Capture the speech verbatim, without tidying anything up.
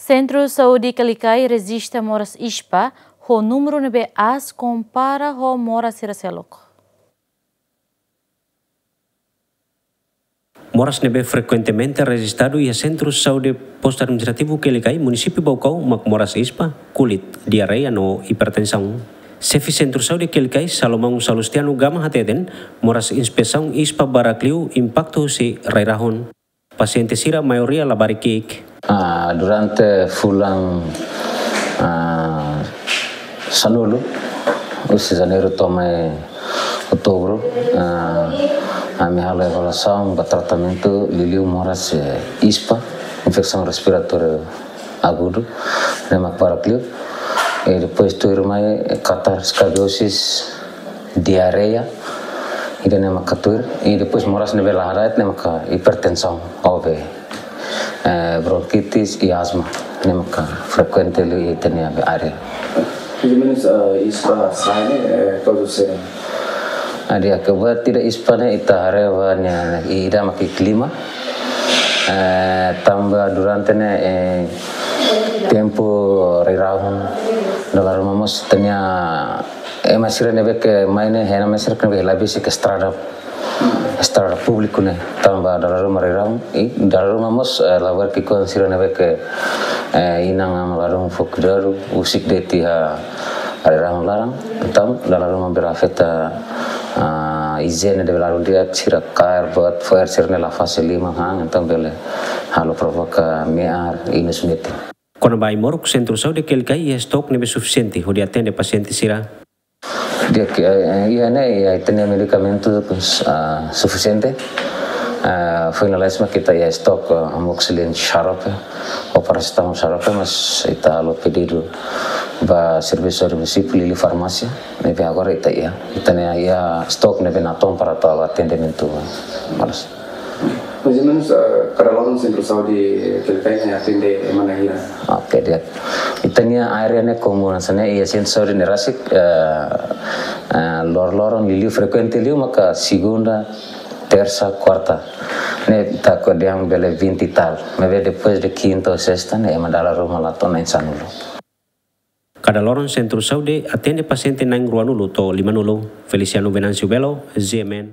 Sentru Saúde Kelikai rejista moras ispa ho númeru ne'ebé aas kompara ho moras sira seluk. Moras ne'ebé frekuentemente rejistadu iha Sentru Saúde Postu Administrativu Kelikai, Munisípiu Baucau, mak moras ispa, kulit, diarreia no hipertensaun. Xefe Sentru Saúde Kelikai, Salomão Salustiano Gama hateten, moras inspesaun ispa barak liu impaktu husi rai-rahun. Pasiente sira maioria labarik ki'ik. Ah, durante fulan, ah, sanulu, husi Janeiru to'o mai Outubru, ah, ami halo evaluasaun ba tratamentu liuliu moras, eh, ispa, infesaun respiratóriu agudu, ne'e mak barak liu. E depois tuirmai, eh, katar, eskabioses, diarreia, ida-ne'e maka tuir, i depois moras ne'ebé la hada'et ne'e maka hipertensaun, O V, eh, bronkitis i asma, ne'e maka frekuente liu iha ita-nia área. Mais ou menos, eh, ispa sa'e ne'e, eh, todos sira? Adi, akibat ida ispa ne'e ita haree ba nia, ida maka klima, eh, tanba durante ne'e, eh, tempu rai-rahun, dala ruma mós ita-nia ema sira ne'ebé ke mai ne'e, hena mai sira ke ne'ebé la besik estrada, estrada públiku ne'e, tanba dala ruma rai-rahun, i dala ruma mós, eh, labarik ki'ikoan sira ne'ebé ke, eh, inan-aman ladún fó kuidadu, husik de'it iha rai-rahun laran, entaun dala ruma bele afeta, ah, ijiene ne'ebé ladún di'ak, sira kaer buat fo'er sira ne'e la fase liman han, entaun bele halo provoka me'ar, inus metin. Kona-ba ai-moruk, Sentru Saúde Kelikai iha estok ne'ebé sufisiente hodi atende pasiente sira. Di'ak, eh, iha ne'e, iha ita-nia medikamentu, ah, sufisiente. Ah, foin lalais mak ita iha estok, ah, amoxicilin xarope, ou paracetamol xarope, mas ita halo pedidu ba servisu de munisípiu, liuliu farmásia, ne'ebé agora ita iha. Ita-nia iha estok ne'ebé natoon para atu halo atendimentu moras. Mais ou menos, eh, kada loron Sentru Saúde Kelikai ne'e atende ema na'in hira? Oke, di'ak. Ita-nia área ne'e komu hanesan ne'e, iha Sentru Saúde ne'e rasik, eh, eh, lor-loron liuliu frekuente liu maka segunda, tersa, kuarta. Ne'e ita ko'alia bele vinte e tal. Maibé depois de quinta ou sexta ne'e ema dala ruma la to'o na'in sanulu. Kada loron Sentru Saúde atende pasiente na'in ruanulu to'o limanulu. Feliciano Venâncio Belo, G M N.